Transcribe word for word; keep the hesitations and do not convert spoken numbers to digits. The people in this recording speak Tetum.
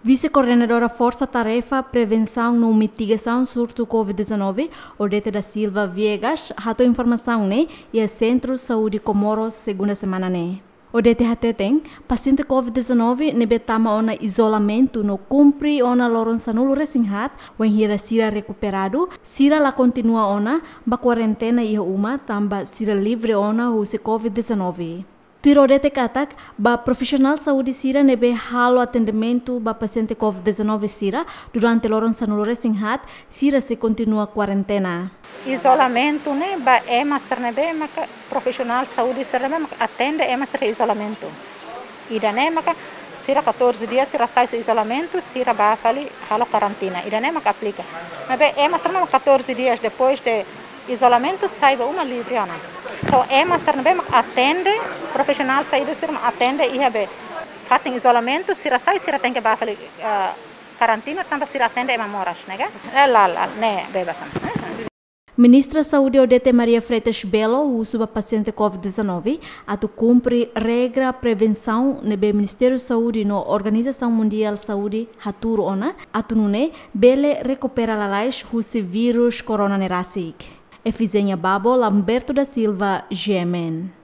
Vise-Koordenadora Forsa Tarefa Prevensaun no Mitigasaun Surtu COVID-19, Odete da Silva Viegas, hato'o informasaun ne'e iha Sentru Saúde Comoro, segunda semana ne'e. Odete hateten, pasiente COVID-19 ne'ebé tama ona izolamentu no kumpre ona loron sanulu-resin-haat, wainhira sira rekuperadu, sira la kontinua ona ba kuarentena iha uma, tanba sira livre ona husi COVID-19. Tuir Odete katak, ba profisionál saúde sira ne'ebé halo atendimentu ba pasiente COVID-19 sira durante loron sanulu-resin-haat, sira sei kontinua kuarentena. Izolamentu ne'e ba ema sira ne'ebé maka profisionál saúde sira ne'ebé maka atende ema sira izolamentu. Ida-ne'e maka sira catorze dias sira sai husi izolamentu, sira ba fali halo karantina. Ida-ne'e maka aplika. Maibé ema sira ne'ebé maka catorze dias depois de izolamentu sai ba uma livre ona. Só ema sira ne'ebé mak atende, profisionál saúde sira mak atende iha be fatin izolamentu, sira sai, sira tenke ba fali, ah, karantina tanba sira atende ema moras, ne'e ka? Eh, la, la, ne'e bebas ona. Ministra Saúde Odete Maria Freitas Belo husu ba pasiente COVID-19 atu kumpre regra prevensaun ne'ebé Ministériu Saúde no Organizasaun Mundiál Saúde hatuur ona, atu nune'e bele rekupera lalais husi vírus corona ne'e rasik. Efizenia Babo, Lamberto da Silva, G M N.